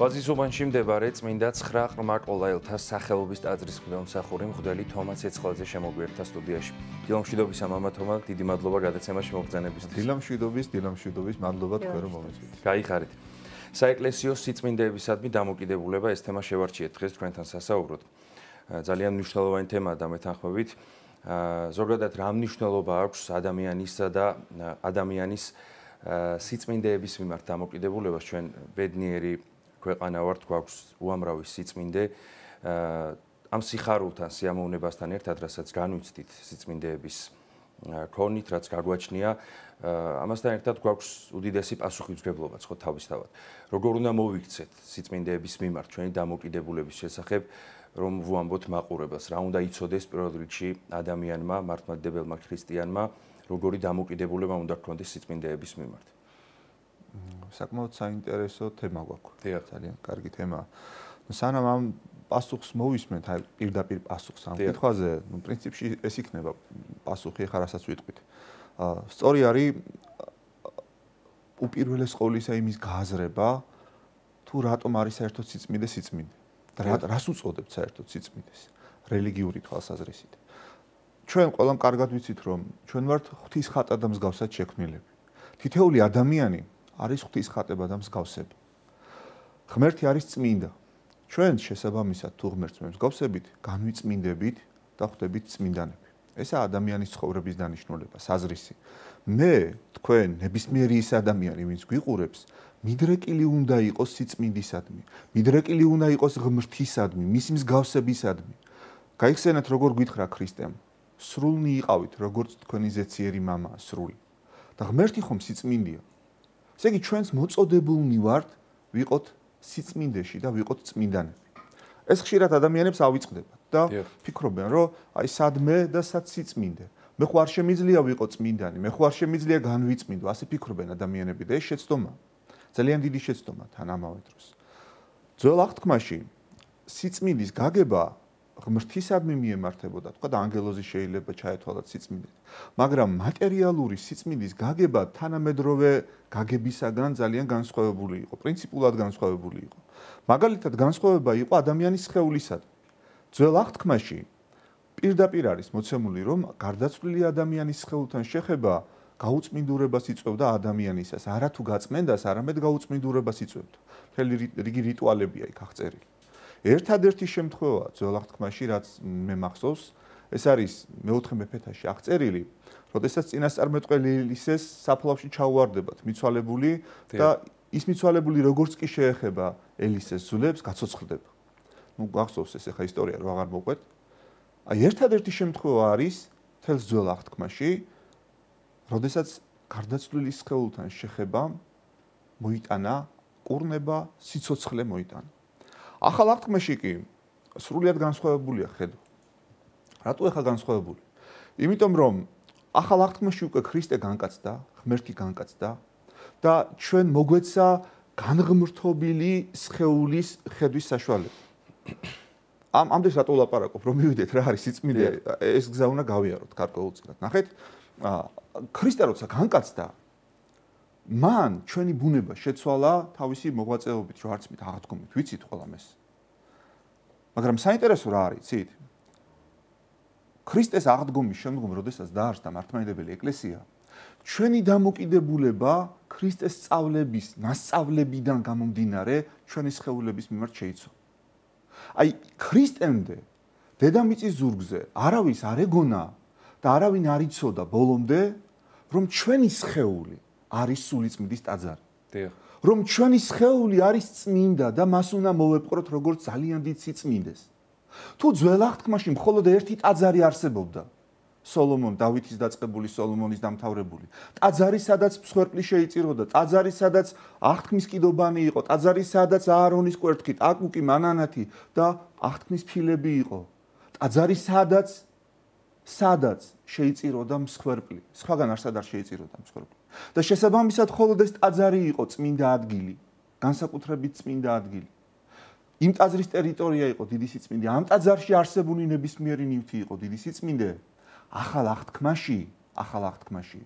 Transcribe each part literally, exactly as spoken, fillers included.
ვაზისუბანში მდებარე წმინდა ცხრა ყრმა ყოლაელთა სახელობის ტაძრის მღვდელმსახური მღვდელი თომა ცეცხლაძე შემოგვიერთდა სტუდიაში. დილამშვიდობისა მამა თომა, დიდი მადლობა გადაცემაში მოგბრძანებისთვის. დილამშვიდობის, დილამშვიდობის, მადლობა თქვენ რომ მომეწვით. გაიხარით. საეკლესიო სიწმინდეებისადმი დამოკიდებულება ეს თემა შევარჩიეთ დღეს თქვენთან სასაუბროდ. ძალიან მნიშვნელოვანი თემაა და მეთანხმებით. ზოგადად რა მნიშვნელობა აქვს ადამიანისა და ადამიანის სიწმინდეების მიმართ დამოკიდებულებას ჩვენ ბედნიერი ქვეყანა ვართ, გვაქვს უამრავი სიწმინდე. ამ სიხარულთან, სიამოვნებასთან ერთად, რასაც განვიცდით სიწმინდეების ქონით, რაც გაგვაჩნია, ამასთან ერთად გვაქვს უდიდესი პასუხისმგებლობაც ხო თავისთავად. როგორ უნდა მოვიქცეთ სიწმინდეების მიმართ ჩვენი დამოკიდებულების შესახებ, რომ ვუამბოთ მაყურებელს, რა უნდა იცოდეს პირველ რიგში ადამიანმა, მართლმადიდებელმა ქრისტიანმა, როგორი დამოკიდებულება უნდა გქონდეს სიწმინდეების მიმართ. საკმაოდ საინტერესო თემა გვაქვს. დიახ, ძალიან კარგი თემაა. სანამ ამ პასუხს მოვისმენთ, აი პირდაპირ პასუხს ამ კითხვაზე, ნუ პრინციპში ეს იქნება პასუხი, ხა რასაც ვიტყვით. სწორი არის უპირველეს ყოვლისა იმის გააზრება, თუ რატომ არის საერთოდ სიწმინდე სიწმინდე. და რას უწოდებთ საერთოდ სიწმინდეს რელიგიური თვალსაზრისით. ჩვენ ყველამ კარგად ვიცით, რომ ჩვენ ვართ ღვთის ხატა და მსგავსად შექმნილები. თითოეული ადამიანი არის ღვთის ხატება და მსგავსება. ღმერთი არის წმინდა. ჩვენ შესაბამისად თუ ღმერთს მსგავსებით, განვიწმინდებით და ხვდებით წმინდანები. ესაა ადამიანის ცხოვრების დანიშნულება, საზრისი. მე, თქვენ, ნებისმიერი ის ადამიანი, ვინც გვიყურებს, მიდრეკილი უნდა იყოს სიწმინდისადმი. მიდრეკილი უნდა იყოს ღმრთისადმი, მის მსგავსებისადმი. გაიხსენეთ, როგორ გითხრა ქრისტემ. სრულნი იყავით, როგორც თქვენი ზეციერი მამაა, სრული. და ღმერთი ხომ სიწმინდეა. ესე იგი, ჩვენს მოწოდებულნი ვართ, ვიყოთ სიწმინდეში და ვიყოთ წმინდანები. ეს ხშირად ადამიანებს ავიწყდებათ და ფიქრობენ, რომ აი სადმე და სად სიწმინდე. მე ხო არ შემიძლია ვიყო წმინდანი, მე ხო არ შემიძლია განვიწმინდო, ასე ფიქრობენ ადამიანები და ეს შეცდომა. ძალიან დიდი შეცდომა თან ამავე დროს. ძველ აღთქმაში სიწმინდის გაგება ღმრთისადმი მიემართებოდა, თქვა და ანგელოზი შეიძლება ჩაეთვალათ სიწმინდით. მაგრამ მატერიალური სიწმინდის გაგება თანამედროვე გაგებისაგან ძალიან განსხვავებული იყო, პრინციპულად განსხვავებული იყო. მაგალითად, განსხვავება იყო ადამიანის სხეულისადმი. ძველ აღთქმაში პირდაპირ არის მოცემული, რომ გარდაცვლილი ადამიანის სხეულთან შეხება გაუწმინდურებას იწვევდა ადამიანისას, არა თუ გაწმენდას, არამედ გაუწმინდურებას იწვევდა. მთელი რიგი რიტუალებია იქ აღწერილი. ერთადერთი შემთხვევა ძველ აღთქმაში, რაც მე მახსოვს, ეს არის მეოთხე მეფეთაში აღწერილი, როდესაც წინასწარმეტყველი ელისეს საფლავში ჩაუვარდებათ მიცვალებული და ის მიცვალებული როგორც კი შეეხება ელისეს ძვლებს, გაცოცხლდება. ნუ გახსოვს ეს ახლა ისტორია რა აღარ მოყვეთ. აი ერთადერთი შემთხვევა არის თელს ძველ აღთქმაში, როდესაც გარდაცვლილი სხეულთან შეხება მოიტანა კურნება, სიცოცხლე მოიტანა. ახალ აღთქმაში კი სრულიად განსხვავებულია ხედვა. რატო ახლა განსხვავებული? იმიტომ რომ ახალ აღთქმაში უკვე ქრისტე განკაცდა, ღმერთი განკაცდა და ჩვენ მოგვეცა განღმრთობილი სხეულის ხედვის საშუალება. ამ ამდენს რატო ვლაპარაკობ, რომ მივიდეთ რა არის სიწმინდე, ეს გზა უნდა გავიაროთ გარკვეულწილად. ნახეთ, ქრისტე როცა განკაცდა, მან ჩვენი ბუნება შეცვალა თავისი მოღვაწეობით, რომ არც მით აღდგომით, ვიცით ყველამ ეს. მაგრამ საინტერესო რა არის, იცით? ქრისტეს აღდგომის შემდგომ, როდესაც დაარსდა მართლმადიდებელი ეკლესია, ჩვენი დამოკიდებულება ქრისტეს სწავლების, ნასწავლებიდან გამომდინარე, ჩვენი სხეულების მიმართ შეიცვალა. აი, ქრისტემდე დედამიწის ზურგზე არავის არ ეგონა და არავინ არ იცოდა ბოლომდე, რომ ჩვენი სხეული არის სულიწმინდის ტაძარი. რომ ჩვენი სხეული არის წმინდა და მას უნდა მოვეპყროთ როგორც ძალიან დიდ სიწმინდეს. თუ ძველ აღთქმაში მხოლოდ ერთი ტაძარი არსებობდა, სოლომონ, დავითის დაწყებული, სოლომონის დამთავრებული. ტაძარი, სადაც მსხვერპლი შეიწიროდა, ტაძარი, სადაც აღთქმის კიდობანი იყო, ტაძარი, სადაც აარონის კვერთხი, აკუკი, მანანათი და აღთქმის ფილები იყო. ტაძარი, სადაც სადაც შეიწიროდა მსხვერპლი. სხვაგან არსად არ შეიწიროდა მსხვერპლი. და შესაბამისად მხოლოდ ეს ტაძარი იყო წმინდა ადგილი, განსაკუთრებით წმინდა ადგილი. იმ ტაძრის ტერიტორია იყო დიდი სიწმინდე, ამ ტაძარში არსებული ნებისმიერი ნივთი იყო დიდი სიწმინდე. ახალ აღთქმაში, ახალ აღთქმაში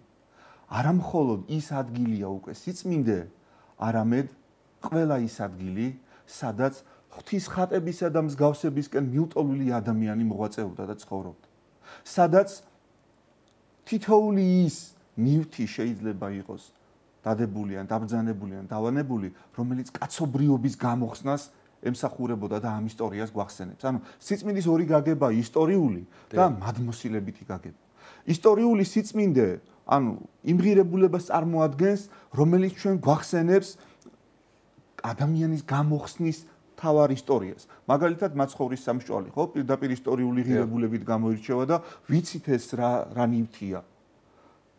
არა მხოლოდ ის ადგილია უკვე სიწმინდე, არამედ ყველა ის ადგილი, სადაც ღვთის ხატებისა და მსგავსებისკენ მიუტოლილი ადამიანი მოღვაწეობდა და ცხოვრობდა. სადაც თითოეული ის ნივთი შეიძლება იყოს დადებული ან დაბრძანებული ან დავანებული, რომელიც კაცობრიობის გამოხსნას ემსახურებოდა და ამ ისტორიას გვახსენებს. ანუ სიწმინდის ორი გაგება ისტორიული და მადმოსილებითი გაგება. ისტორიული სიწმინდე, ანუ იმღირებულებას წარმოადგენს, რომელიც ჩვენ გვახსენებს ადამიანის გამოხსნის თავარ ისტორიას. მაგალითად, მაცხოვრის სამსჭველი, ხო, პირდაპირ ისტორიული ღირებულებით გამოირჩევა და ვიცით ეს რა რა ნივთია.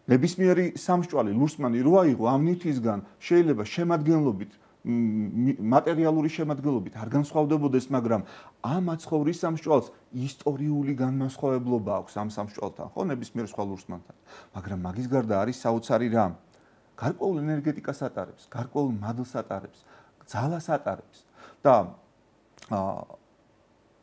ნებისმიერი სამსჭველი ლურსმანი რო აიღო ამ ნივთისგან, შეიძლება შემადგენლობით მატერიალური შემადგენლობით არ განსხვავდებოდეს, მაგრამ ამ მაცხოვრის სამსჭვალს ისტორიული განმასხვავებლობა აქვს ამ სამსჭვალთან, ხო, ნებისმიერ სხვა ლურსმანთან. მაგრამ მაგის გარდა არის საოცარი რამ. გარკვეულ ენერგეტიკას ატარებს, გარკვეულ მადლს ატარებს, ძალას ატარებს და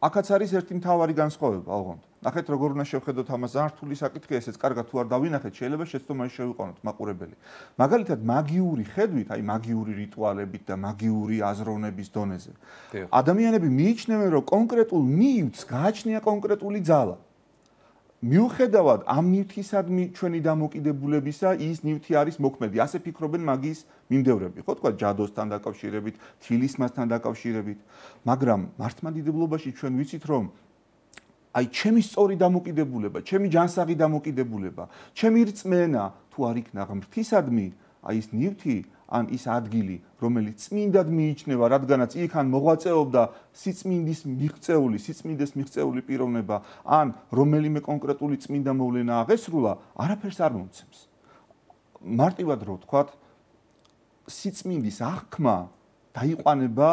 აქაც არის ერთი მთავარი განსხვავება, ოღონდ. ნახეთ, როგორ უნდა შევხედოთ ამას, ზართული საკითხია, ესეც კარგად თუ არ დავინახეთ, შეიძლება შეცდომაში შევიყვანოთ მაყურებელი. მაგალითად, მაგიური ხედვით, აი მაგიური რიტუალებით და მაგიური აზროვნების დონეზე. ადამიანები მიიჩნევენ, რომ კონკრეტულ ნივთს გააჩნია კონკრეტული ძალა. მიუხედავად ამ ნივთისადმი ჩვენი დამოკიდებულებისა, ის ნივთი არის მოქმედი. ასე ფიქრობენ მაგიის მიმდევრები, ხო, თქვა ჯადოსთან დაკავშირებით, თილისმასთან დაკავშირებით, მაგრამ მართლმადიდებლობაში ჩვენ ვიცით, რომ აი ჩემი სწორი დამოკიდებულება, ჩემი ჯანსაღი დამოკიდებულება, ჩემი რწმენა თუ არ იქნა ღმრთისადმი, აი ის ნივთი ან ის ადგილი, რომელიც წმინდად მიიჩნევა, რადგანაც იქან მოღვაწეობდა სიწმინდის მიღწეული, სიწმინდეს მიღწეული პიროვნება, ან რომელიმე კონკრეტული წმინდა მოვლენა აღესრულა, არაფერს არ მომცემს. მარტივად რო ვთქვათ, სიწმინდის აღქმა დაიყვანება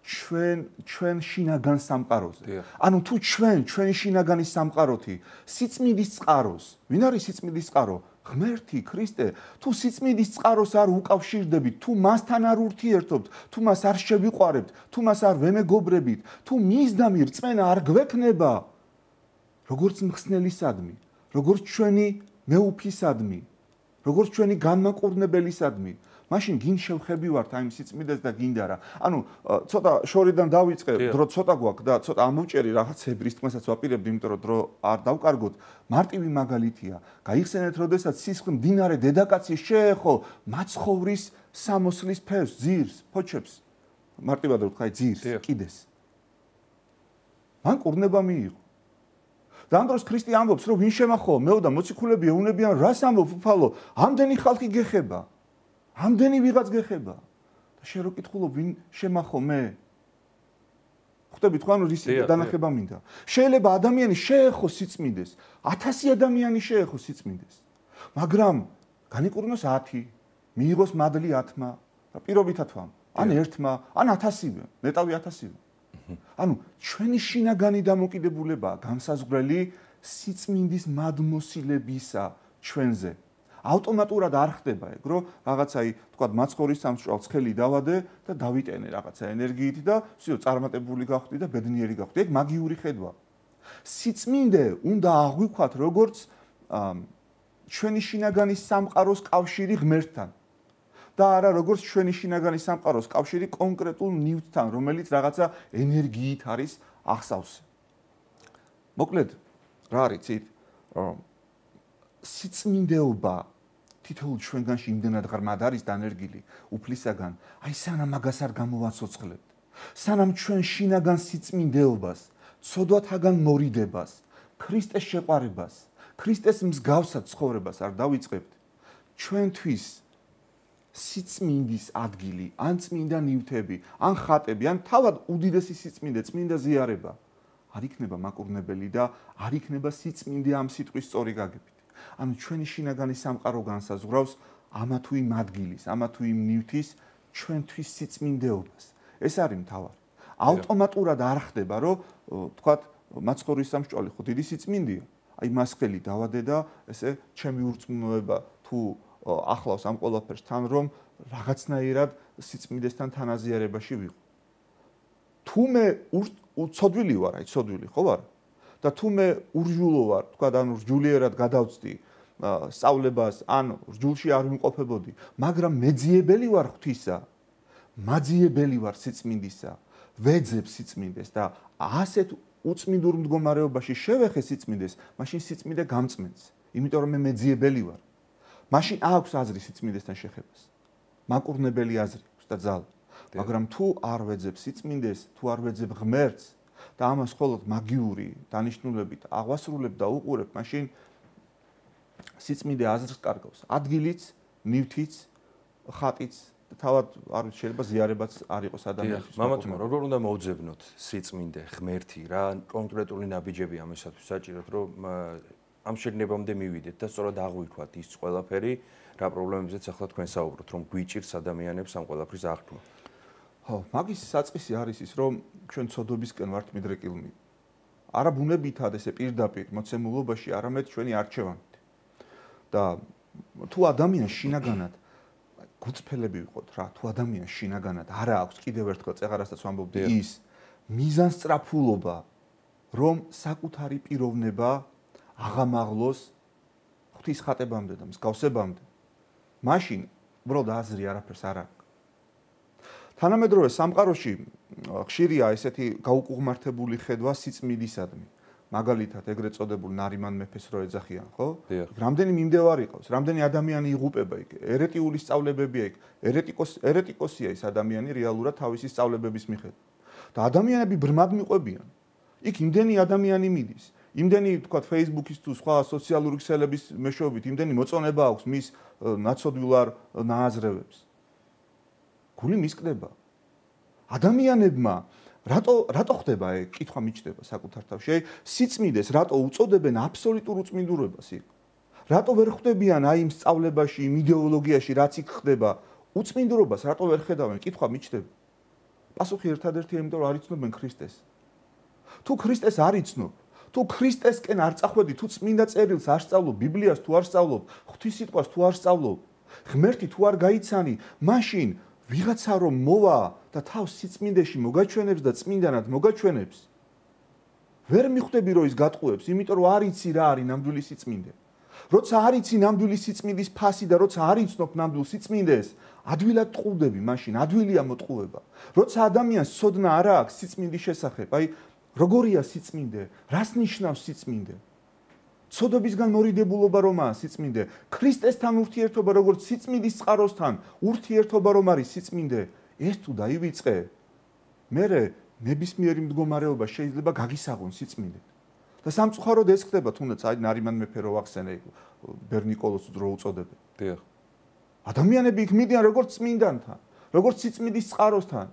ჩვენ ჩვენ შინაგან სამყაროზე. ანუ თუ ჩვენ ჩვენი შინაგანის სამყაროთი სიწმინდის წყაროს, ვინ არის სიწმინდის წყარო? ღმერთი, ქრისტე. თუ სიწმინდის წყაროს არ უკავშირდებით, თუ მასთან არ ურთიერთობთ, თუ მას არ შევიყვარებთ, თუ მას არ ვემეგობრებით, თუ მისდამი რწმენა არ გვექნება, როგორც მხსნელისადმი, როგორც ჩვენი მეუფისადმი, როგორც ჩვენი განმაყურნებელისადმი, მაშინ გინ შევხებივართ აი სიწმინდეს და გინდა რა. ანუ ცოტა შორიდან დავიწყე, დრო ცოტა გვაქვს და ცოტა ამოვჭერი რაღაცებრის თქმასაც ვაპირებდი, იმიტომ რომ დრო არ დავკარგოთ. მარტივი მაგალითია. გაიხსენეთ, როდესაც სისხლი მდინარე დედაკაცი შეეხო მაცხოვრის სამოსლის ფევს, ძირს, ფოჩებს. მარტივად რო ვთქვა, ძირს, კიდეს. მან კურნება მიიღო. და ამ დროს ქრისტე ამბობს, რომ ვინ შემახო, მეო და მოციქულები ეუნებიან, რას ამბობ, უფალო, ამდენი ხალხი გეხება. ამდენი ვიღაც გეხება და შენ რო კითხულობ ვინ შემახო მე ხვდებით ხო ანუ რის დანახება მინდა შეიძლება ადამიანი შეეხო სიწმინდეს ათასი ადამიანი შეეხო სიწმინდეს მაგრამ განიკურნოს ათი მიიღოს მადლი ათმა პირობითად ვამ ან ერთმა ან ათასივე ნეტავი ათასივე ანუ ჩვენი შინაგანი დამოკიდებულებაა განსაზღვრელი სიწმინდის მადმოსილებისა ჩვენზე ავტომატურად არ ხდება ეგ, რომ რაღაცაი, თქვა, მაცხოვრის სამსჭვალს ხელი დავადე და დავიტენე რაღაცა ენერგიით და всё, წარმატებული გავხდი და ბედნიერი გავხდი. ეგ მაგიური ხედვა. სიწმინდე უნდა აღვიქვათ როგორც ჩვენი შინაგანის სამყაროს კავშირი ღმერთთან. და არა როგორც ჩვენი შინაგანის სამყაროს კავშირი კონკრეტულ ნივთთან, რომელიც რაღაცა ენერგიით არის ახსავსე. მოკლედ, რა არის ცით? სიწმინდეობა თითოეულ ჩვენგანში იმდენად ღრმად არის დანერგილი უფლისაგან, აი სანამ მაგას არ გამოვაცოცხლებთ, სანამ ჩვენ შინაგან სიწმინდეობას, ცოდვათაგან მორიდებას, ქრისტეს შეყვარებას, ქრისტეს მსგავსად ცხოვრებას არ დავიწყებთ, ჩვენთვის სიწმინდის ადგილი, ან წმინდა ნივთები, ან ხატები, ან თავად უდიდესი სიწმინდე, წმინდა ზიარება არ იქნება მაკურნებელი და არ იქნება სიწმინდე ამ სიტყვის სწორი გაგებით. ანუ ჩვენი შინაგანი სამყარო განსაზღვრავს ამა თუ იმ ადგილის, ამა თუ იმ ნივთის ჩვენთვის სიწმინდეობას. ეს არის მთავარი. ავტომატურად არ ხდება, რომ თქვათ, მაცხოვრის სამსჭველი ხო დიდი სიწმინდეა. აი მას ხელი დავადე და ესე ჩემი ურწმუნოება თუ ახლავს ამ ყველაფერს თან, რომ რაღაცნაირად სიწმინდესთან თანაზიარებაში ვიყო. თუ მე ცოდვილი ვარ, აი ცოდვილი ხო ვარ? და თუ მე ურჯულო ვარ, თქვა და ანუ რჯულიერად გადავწდი სწავლებას, ან რჯულში არ ვიმყოფებოდი, მაგრამ მეძიებელი ვარ ღვთისა, მაძიებელი ვარ სიწმინდისა, ვეძებ სიწმინდეს და ასეთ უწმინდურ მდგომარეობაში შევეხე სიწმინდეს, მაშინ სიწმინდე გამწმენს, იმიტომ რომ მე მეძიებელი ვარ. მაშინ აქვს აზრი სიწმინდესთან შეხებას. მაკურნებელი აზრი აქვს და ძალა. მაგრამ თუ არ ვეძებ სიწმინდეს, თუ არ ვეძებ ღმერთს და ამას მხოლოდ მაგიური დანიშნულებით აღვასრულებ და უყურებ, მაშინ სიწმინდე აზრს კარგავს. ადგილიც, ნივთიც, ხატიც, თავად არ ვიცი, შეიძლება ზიარებაც არ იყოს ადამიანის. მამათმა, როგორ უნდა მოვძებნოთ სიწმინდე, ღმერთი, რა კონკრეტული ნაბიჯები ამისათვის საჭიროთ, რომ ამ შეგნებამდე მივიდეთ და სწორად აღვიქვათ ის ყველაფერი, რა პრობლემებზეც ახლა თქვენ საუბრობთ, რომ გვიჭირს ადამიანებს ამ ყველაფრის აღქმა. ხო, მაგის საწყისი არის ის, რომ ჩვენ ცოდვებისკენ ვართ მიდრეკილნი. არა ბუნებითად ესე პირდაპირ მოცემულობაში, არამედ ჩვენი არჩევანით. და თუ ადამიანს შინაგანად გუწფელები ვიყოთ რა, თუ ადამიანს შინაგანად არა აქვს კიდევ ერთხელ წეღარასაც ვამბობდი ის მიზანსწრაფულობა, რომ საკუთარი პიროვნება აღამაღლოს ღვთის ხატებამდე და მსგავსებამდე, მაშინ უბრალოდ აზრი არაფერს არ აქვს. თანამედროვე სამყაროში ხშირია ესეთი გაუკუღმართებული ხედვა სიწმინდისადმი. მაგალითად, ეგრეთ წოდებულ ნარიმან მეფეს რო ეძახიან, ხო? რამდენი მიმდევარი ყავს, რამდენი ადამიანი იღუპება იქ, ერეტიული სწავლებებია იქ, ერეტიკოს ერეტიკოსია ის ადამიანი რეალურად თავისი სწავლებების მიხედვით. და ადამიანები ბრმად მიყვებიან. იქ იმდენი ადამიანი მიდის, იმდენი თქვა Facebook-ის თუ სხვა სოციალური ქსელების მეშვეობით, იმდენი მოწონება აქვს მის ნაცოდვილარ ნააზრევებს. გული მისკდება. ადამიანებმა რატო რატო ხდება ეგ? კითხვა მიჩნდება საკუთარ თავში. სიწმინდეს რატო უწოდებენ აბსოლუტურ უწმინდურობას იქ? რატო ვერ ხვდებიან აი იმ სწავლებაში, იმ იდეოლოგიაში, რაც იქ ხდება, უწმინდურობას რატო ვერ ხედავენ? კითხვა მიჩნდება. პასუხი ერთადერთია, იმიტომ რომ არ იცნობენ ქრისტეს. თუ ქრისტეს არ იცნობ, თუ ქრისტესკენ არ წახვედი, თუ წმინდა წერილს არ სწავლობ, ბიბლიას თუ არ სწავლობ, ღვთის სიტყვას თუ არ სწავლობ, ღმერთი თუ არ გაიცანი, მაშინ ვიღაცა რომ მოვა და თავს სიწმინდეში მოგაჩვენებს და წმინდანად მოგაჩვენებს, ვერ მიხვდები რომ ის გატყუებს, იმიტომ რომ არ იცი რა არის ნამდვილი სიწმინდე. როცა არ იცი ნამდვილი სიწმინდის ფასი და როცა არ იცნობ ნამდვილ სიწმინდეს, ადვილად ტყუდები, მაშინ ადვილია მოტყუება. როცა ადამიანს ცოდნა არ აქვს სიწმინდის შესახებ, აი როგორია სიწმინდე, რას ნიშნავს სიწმინდე? ცოდვებისგან მორიდებულობა რომაა სიწმინდე, ქრისტესთან ურთიერთობა როგორც სიწმინდის წყაროსთან, ურთიერთობა რომ არის სიწმინდე, ეს თუ დაივიწყე, მერე ნებისმიერი მდგომარეობა შეიძლება გაგისაღონ სიწმინდე. და სამწუხაროდ ეს ხდება, თუნდაც აი ნარიმან მეფე რო ახსენე, ბერნიკოლოს დრო უწოდებენ. დიახ. ადამიანები იქ მიდიან როგორც წმინდანთან, როგორც სიწმინდის წყაროსთან.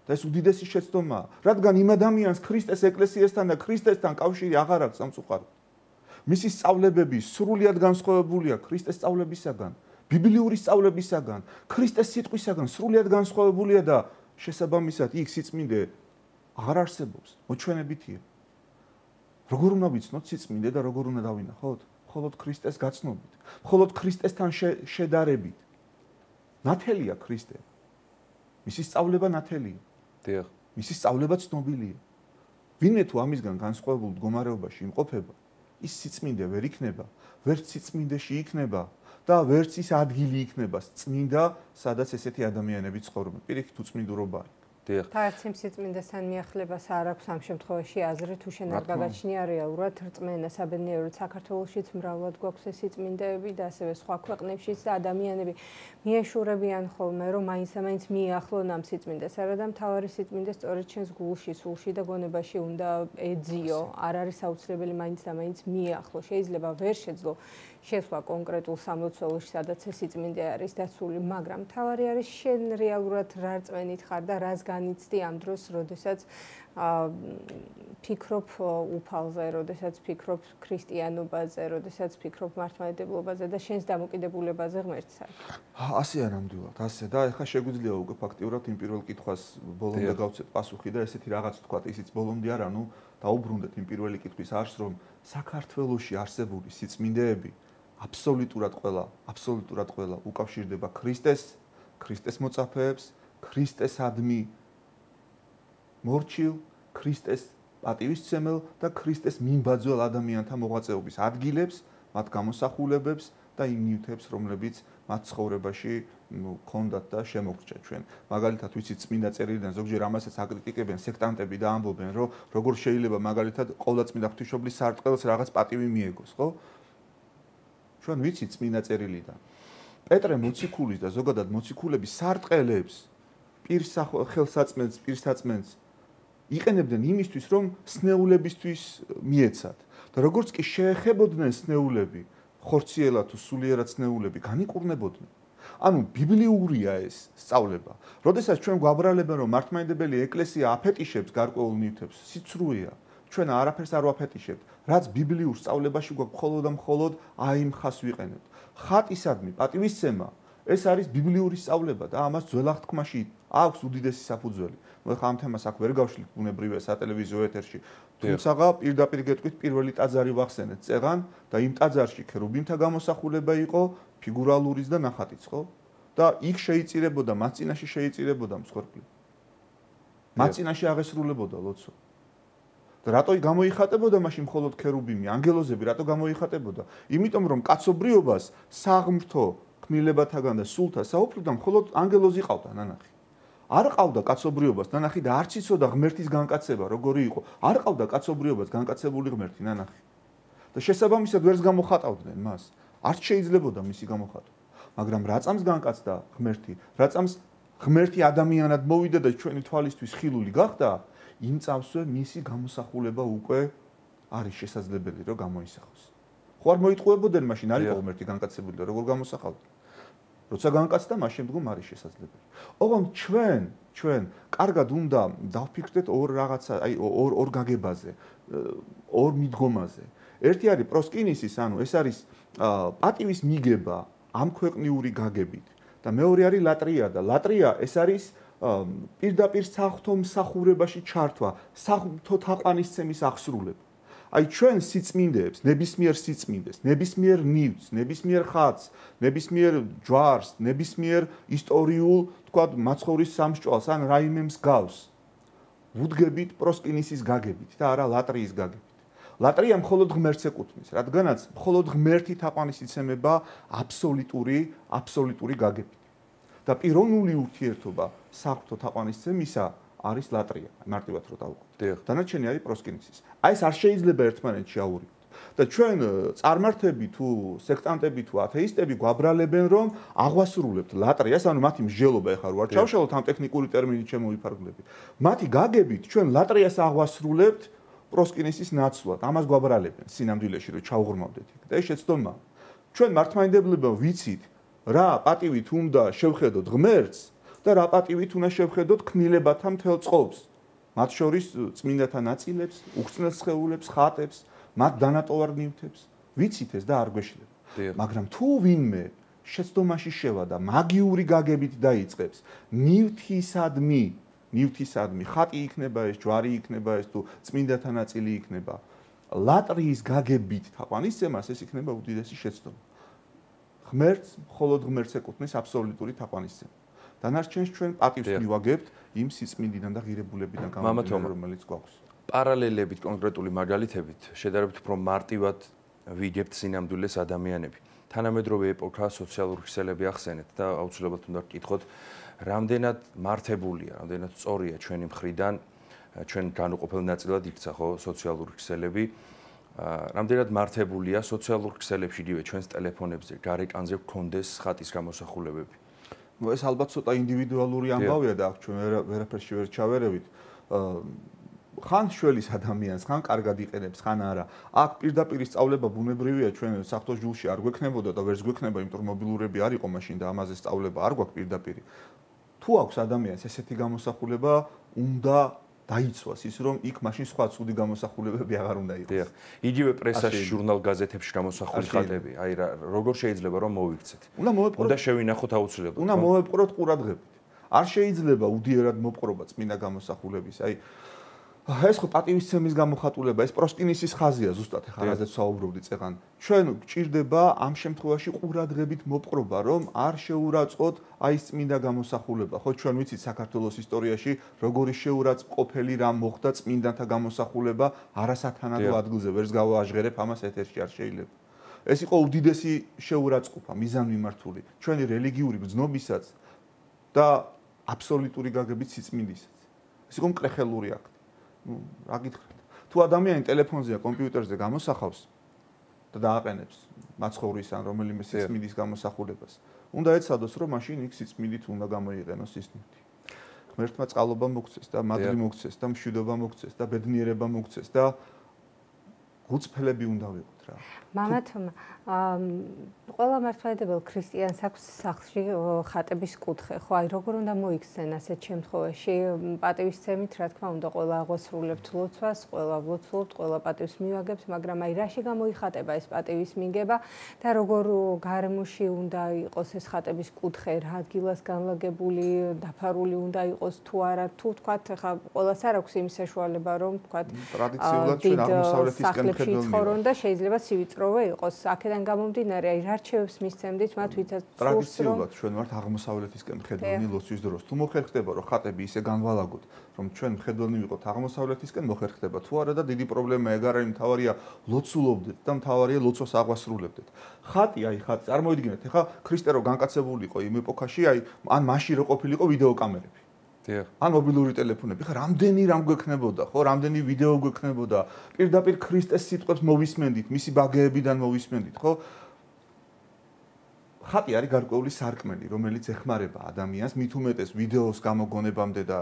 და ეს უდიდესი შეცდომაა, რადგან იმ ადამიანს ქრისტეს ეკლესიასთან და ქრისტესთან კავშირი აღარ აქვს სამწუხაროდ. მისი სწავლებები სრულიად განსხვავებულია ქრისტეს სწავლებისაგან, ბიბლიური სწავლებისაგან, ქრისტეს სიტყვისაგან სრულიად განსხვავებულია და შესაბამისად იქ სიწმინდე აღარ არსებობს, მოჩვენებითია. როგორ უნდა ვიცნოთ სიწმინდე და როგორ უნდა დავინახოთ? მხოლოდ ქრისტეს გაცნობით, მხოლოდ ქრისტესთან შედარებით. ნათელია ქრისტე. მისი სწავლება ნათელია. დიახ. მისი სწავლება ცნობილია. ვინმე თუ ამისგან განსხვავებულ მდგომარეობაში იმყოფება, ის სიწმინდე ვერ იქნება, ვერც სიწმინდეში იქნება და ვერც ის ადგილი იქნება წმინდა, სადაც ესეთი ადამიანები ცხოვრობენ. პირიქით უწმინდურობა არის. დიახ. თარც იმ სიწმინდესთან მიახლებას არ აქვს ამ შემთხვევაში აზრი, თუ შენ არ გაგაჩნია რეალურად რწმენა საბედნიეროდ საქართველოშიც მრავლად გვაქვს ეს სიწმინდეები და ასევე სხვა ქვეყნებშიც და ადამიანები მიეშურებიან ხოლმე, რომ მაინც-მაინც მიახლონ ამ სიწმინდეს. არადა მთავარი სიწმინდე სწორედ ჩვენს გულში, სულში და გონებაში უნდა ეძიო. არ არის აუცილებელი მაინც-მაინც მიახლო. შეიძლება ვერ შეძლო შესვლა კონკრეტულ სამლოცველოში, სადაც ეს სიწმინდე არის დაცული, მაგრამ მთავარი არის შენ რეალურად რა რწმენით ხარ და რას განიცდი ამ დროს, როდესაც ფიქრობ უფალზე, როდესაც ფიქრობ ქრისტიანობაზე, როდესაც ფიქრობ მართლმადიდებლობაზე და შენს დამოკიდებულებაზე ღმერთთან. ასეა ნამდვილად, ასე და ეხლა შეგვიძლია უკვე ფაქტიურად იმ პირველ კითხვას ბოლომდე გავცეთ პასუხი და ესეთი რაღაც თქვა, ისიც ბოლომდე არა, ნუ დაუბრუნდეთ იმ პირველი კითხვის არს, რომ საქართველოში არსებული სიწმინდეები აბსოლუტურად ყველა, აბსოლუტურად ყველა უკავშირდება ქრისტეს, ქრისტეს მოწაფეებს, ქრისტესადმი მორჩილ, ქრისტეს პატივისცემელ და ქრისტეს მიმბაძველ ადამიანთა მოღვაწეობის ადგილებს, მათ გამოსახულებებს და იმ ნივთებს, რომლებიც მათ ცხოვრებაში ქონდათ და შემოგრჩა ჩვენ. მაგალითად, ვიცით, წმინდა წერილიდან ზოგჯერ ამასაც აკრიტიკებენ სექტანტები და ამბობენ, რომ როგორ შეიძლება მაგალითად ყოვლადწმინდა ღვთისმშობლის სარტყელს რაღაც პატივი მიეგოს, ხო? ჩვენ ვიცით წმინდა წერილიდან. პეტრე მოციქულის და ზოგადად მოციქულების სარტყელებს პირს ხელსაწმენს, პირსაწმენს იყენებდნენ იმისთვის, რომ სნეულებისთვის მიეცათ. და როგორც კი შეეხებოდნენ სნეულები, ხორციელად თუ სულიერად სნეულები, განიკურნებოდნენ. ანუ ბიბლიურია ეს სწავლება. როდესაც ჩვენ გვაბრალებენ, რომ მართლმადიდებელი ეკლესია აფეტიშებს გარკვეულ ნივთებს, სიცრუეა. ჩვენ არაფერს არ ვაფეტიშებთ. რაც ბიბლიურ სწავლებაში გვაქვს მხოლოდ და მხოლოდ აი იმ ხას ვიყენებთ. ხატისადმი პატივისცემა ეს არის ბიბლიური სწავლება და ამას ძველ აღთქმაში აქვს უდიდესი საფუძველი. ნუ ახლა ამ თემას აქ ვერ გავშლით ბუნებრივია სატელევიზიო ეთერში. თუმცა პირდაპირ გეტყვით პირველი ტაძარი ვახსენეთ წეღან და იმ ტაძარში ქერუბიმთა გამოსახულება იყო ფიგურალურიც და ნახატიც, ხო? და იქ შეიწირებოდა, მათ წინაშე შეიწირებოდა მსხვერპლი. მათ წინაშე აღესრულებოდა ლოცვა. და რატო გამოიხატებოდა მაშინ მხოლოდ ქერუბიმი, ანგელოზები რატო გამოიხატებოდა? იმიტომ რომ კაცობრიობას საღმრთო ქმნილებათაგან და სულთა საუფლოდან მხოლოდ ანგელოზი ყავდა ნანახი. არ ყავდა კაცობრიობას ნანახი და არც იცოდა ღმერთის განკაცება როგორი იყო. არ ყავდა კაცობრიობას განკაცებული ღმერთი ნანახი. და შესაბამისად ვერს გამოხატავდნენ მას. არც შეიძლებოდა მისი გამოხატვა. მაგრამ რა წამს განკაცდა ღმერთი, რა წამს ღმერთი ადამიანად მოვიდა და ჩვენი თვალისთვის ხილული გახდა, იმ წამსვე მისი გამოსახულება უკვე არის შესაძლებელი რომ გამოისახოს. ხო არ მოიტყუებოდნენ მაშინ არ იყო ღმერთი განკაცებული და როგორ გამოსახავდნენ. როცა განკაცდა, მას შემდგომ არის შესაძლებელი. ოღონდ ჩვენ, ჩვენ კარგად უნდა დავფიქრდეთ ორ რაღაცა, აი ორ ორ გაგებაზე, ორ მიდგომაზე. ერთი არის პროსკინისის, ანუ ეს არის პატივის მიგება ამ ქვეყნიური გაგებით და მეორე არის ლატრია და ლატრია ეს არის პირდაპირ საღვთო მსახურებაში ჩართვა, საღვთო თაყვანისცემის აღსრულება. აი ჩვენ სიწმინდეებს, ნებისმიერ სიწმინდეს, ნებისმიერ ნივთს, ნებისმიერ ხატს, ნებისმიერ ჯვარს, ნებისმიერ ისტორიულ, თქვათ, მაცხოვრის სამსჭვალს ან რაიმე მსგავს ვუდგებით პროსკინისის გაგებით და არა ლატრიის გაგებით. ლატრია მხოლოდ ღმერთს ეკუთვნის, რადგანაც მხოლოდ ღმერთი თაყვანისცემება აბსოლუტური, აბსოლუტური გაგებით. და პიროვნული ურთიერთობა საღვთო თაყვანისცემისა არის ლატრია, მარტივად რო დავუკვირდით. დანარჩენი არის პროსკინისის. აი ეს არ შეიძლება ერთმანეთში აურივოთ. და ჩვენ წარმართები თუ სექტანტები თუ ათეისტები გვაბრალებენ რომ აღვასრულებთ ლატრიას, ანუ მათი მსჯელობა ეხლა რო არ ჩავშალოთ ამ ტექნიკური ტერმინით შემოვიფარგლები. მათი გაგებით ჩვენ ლატრიას აღვასრულებთ პროსკინისის ნაცვლად. ამას გვაბრალებენ სინამდვილეში რომ ჩავღრმავდეთ იქ. და ეს შეცდომა. ჩვენ მართლმადიდებლებმა ვიცით რა პატივით უნდა შევხედოთ ღმერთს და რა პატივით უნდა შევხედოთ ქმნილებათა მთელ წყობს. მათ შორის წმინდათა ნაწილებს, უხრწნელ სხეულებს, ხატებს, მათ დანატოვარ ნივთებს. ვიცით ეს და არ გვეშლება. მაგრამ თუ ვინმე შეცდომაში შევა და მაგიური გაგებით დაიწყებს ნივთისადმი, ნივთისადმი, ხატი იქნება ეს, ჯვარი იქნება ეს თუ წმინდათა ნაწილი იქნება, ლატრიის გაგებით თაყვანისცემას ეს იქნება უდიდესი შეცდომა. ღმერთს, მხოლოდ ღმერთს ეკუთვნის აბსოლუტური თაყვანისცემა. დანარჩენს ჩვენ პატივს მივაგებთ იმ სიწმინდიდან და ღირებულებიდან გამომდინარე, რომელიც გვაქვს. პარალელებით, კონკრეტული მაგალითებით, შედარებით უფრო მარტივად ვიგებთ სინამდვილეს ადამიანები. თანამედროვე ეპოქა სოციალური ქსელები ახსენეთ და აუცილებლად უნდა გკითხოთ, რამდენად მართებულია, რამდენად სწორია ჩვენი მხრიდან, ჩვენ განუყოფელ ნაწილად იქცა ხო სოციალური ქსელები. რამდენად მართებულია სოციალურ ქსელებში იგივე ჩვენს ტელეფონებზე, გარეკანზე გქონდეს ხატის გამოსახულებები. ნუ ეს ალბათ ცოტა ინდივიდუალური ამბავია და აქ ჩვენ ვერაფერში ვერ ჩავერევით. ხან შველის ადამიანს, ხან კარგად იყენებს, ხან არა. აქ პირდაპირ სწავლება ბუნებრივია ჩვენ საფრთხო ჯულში არ გვექნებოდა და ვერც გვექნება, იმიტომ რომ მობილურები არ იყო მაშინ და ამაზე სწავლება არ გვაქვს პირდაპირ. თუ აქვს ადამიანს ესეთი გამოსახულება, უნდა დაიცვას ის რომ იქ მაშინ სხვა ცუდი გამოსახულებები აღარ უნდა იყოს. იგივე პრესაში, ჟურნალ გაზეთებში გამოსახული ხატები, აი რა როგორ შეიძლება რომ მოვიქცეთ? უნდა მოვეპყროთ. უნდა შევინახოთ აუცილებლად. უნდა მოვეპყროთ ყურადღებით. არ შეიძლება უდიერად მოპყრობა წმინდა გამოსახულების. აი ეს ხო პატივისცემის გამოხატულება, ეს პროსკინისის ხაზია ზუსტად ახლა რაზეც საუბრობდი წეღან. ჩვენ გჭირდება ამ შემთხვევაში ყურადღებით მოპყრობა, რომ არ შეურაცხყოთ აი წმინდა გამოსახულება. ხო ჩვენ ვიცით საქართველოს ისტორიაში როგორი შეურაცხყოფელი რამ მოხდა წმინდანთა გამოსახულება არასათანადო ადგილზე, ვერც გავაჟღერებ ამას ეთერში არ შეიძლება. ეს იყო უდიდესი შეურაცხყოფა, მიზანმიმართული, ჩვენი რელიგიური გრძნობისაც და აბსოლუტური გაგებით სიწმინდისაც. ეს იყო მკრეხელური აქტი. ნუ რა გითხრათ? თუ ადამიანი ტელეფონზე და კომპიუტერზე გამოსახავს და დააყენებს მაცხოვრის ან რომელიმე სიწმინდის გამოსახულებას, უნდა ეცადოს, რომ მაშინ იქ სიწმინდით უნდა გამოიყენოს ის ნივთი. ღმერთმა წყალობა მოგცეს და მადლი მოგცეს და მშვიდობა მოგცეს და ბედნიერება მოგცეს და გუწფლები უნდა ვიყოთ რა. მამათომა, ყველა მართლმადიდებელ ქრისტიანს აქვს სახლში ხატების კუთხე, ხო, აი როგორ უნდა მოიქცენ ასეთ შემთხვევაში? პატივისცემით, რა თქმა უნდა, ყველა აღვასრულებთ ლოცვას, ყველა ვლოცულობთ, ყველა პატივს მივაგებთ, მაგრამ აი რაში გამოიხატება ეს პატივის მიგება და როგორ გარემოში უნდა იყოს ეს ხატების კუთხე, რა ადგილას განლაგებული, დაფარული უნდა იყოს თუ არა, თუ თქვათ, ხა ყველას არ აქვს იმის საშუალება, რომ თქვათ ტრადიციულად ჩვენ აღმოსავლეთისკენ ხედავთ და შეიძლება სივიწროვე იყოს. აქედან გამომდინარე, აი რა რჩევებს მისცემდით მათ, ვისაც ტრადიციულად ჩვენ ვართ აღმოსავლეთისკენ მხედველნი ლოცვის დროს. თუ მოხერხდება, რომ ხატები ისე განვალაგოთ, რომ ჩვენ მხედველნი ვიყოთ აღმოსავლეთისკენ, მოხერხდება. თუ არა და დიდი პრობლემა ეგ არ არის, მთავარია ლოცულობდეთ და მთავარია ლოცვას აღვასრულებდეთ. ხატი, აი ხატი, წარმოიდგინეთ, ეხლა ქრისტე რო განკაცებული იყო იმ ეპოქაში, აი ან მაშინ რო ყოფილიყო ვიდეო კამერები. ან მობილური ტელეფონები, ხა რამდენი რამ გვექნებოდა, ხო, რამდენი ვიდეო გვექნებოდა, პირდაპირ ქრისტეს სიტყვებს მოვისმენდით, მისი ბაგეებიდან მოვისმენდით, ხო? ხატი არის გარკვეული სარკმელი, რომელიც ეხმარება ადამიანს, მით უმეტეს ვიდეოს გამოგონებამდე და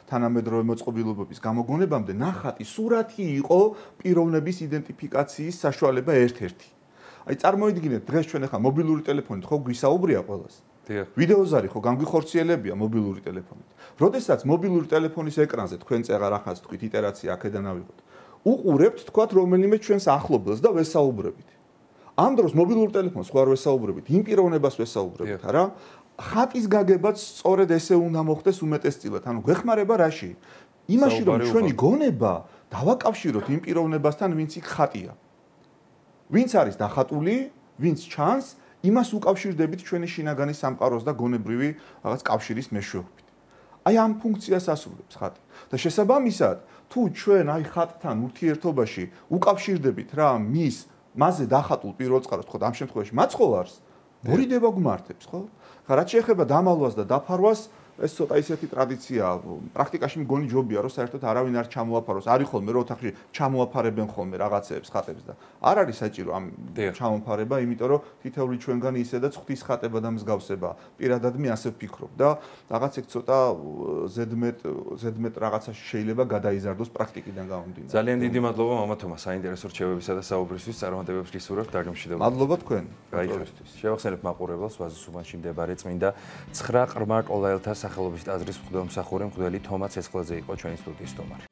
თანამედროვე მოწყობილობების გამოგონებამდე, ნახატი, სურათი იყო პიროვნების იდენტიფიკაციის საშუალება ერთ-ერთი. აი წარმოიდგინეთ, დღეს ჩვენ ახლა მობილური ტელეფონით ხო გვისაუბრია ყველას. ვიდეოზარი ხო განგვიხორციელებია მობილური ტელეფონით. როდესაც მობილური ტელეფონის ეკრანზე თქვენ წეღარ ახაც თქვით იტერაცია აქედან ავიღოთ. უყურებთ თქვათ რომელიმე ჩვენს ახლობელს და ვესაუბრებით. ამ დროს მობილურ ტელეფონს ხო არ ვესაუბრებით, იმ პიროვნებას ვესაუბრებით, არა? ხატის გაგებაც სწორედ ესე უნდა მოხდეს უმეტესწილად. ანუ გვეხმარება რაში? იმაში რომ ჩვენი გონება დავაკავშიროთ იმ პიროვნებასთან, ვინც იქ ხატია. ვინც არის დახატული, ვინც ჩანს, იმას უკავშირდებით ჩვენი შინაგანი სამყაროს და გონებრივი რაღაც კავშირის მეშვეობით. აი ამ ფუნქციას ასრულებს ხატი. და შესაბამისად, თუ ჩვენ აი ხატთან ურთიერთობაში უკავშირდებით რა მის მასზე დახატულ პირველ წყაროს, ხო, ამ შემთხვევაში მაცხოვარს, მორიდება გვმართებს, ხო? ხა რაც შეეხება დამალვას და დაფარვას, ეს ცოტა ისეთი ტრადიციაა. პრაქტიკაში მგონი ჯობია, რომ საერთოდ არავინ არ ჩამოაფაროს. არის ხოლმე რომ ოთახში ჩამოაფარებენ ხოლმე რაღაცეებს ხატებს და არ არის საჭირო ამ ჩამოფარება, იმიტომ რომ თითოეული ჩვენგანი ისედაც ღვთის ხატება და მსგავსება. პირადად მე ასე ვფიქრობ და რაღაც ეგ ცოტა ზედმეტ ზედმეტ რაღაცა შეიძლება გადაიზარდოს პრაქტიკიდან გამომდინარე. ძალიან დიდი მადლობა მამათომა საინტერესო რჩევებისა და საუბრისთვის. წარმატებებს გისურვებთ დაგემშვიდობთ. მადლობა თქვენ. გაიხარეთ. შევახსენებთ მაყურებელს ვაზის უბანში მდებარე წმინდა ცხრა ყრმა კოლაელთა სახელობის ტაძრის მღვდელმსახური მღვდელი თომა ცეცხლაძე იყო ჩვენი სტუდიის სტუმარი.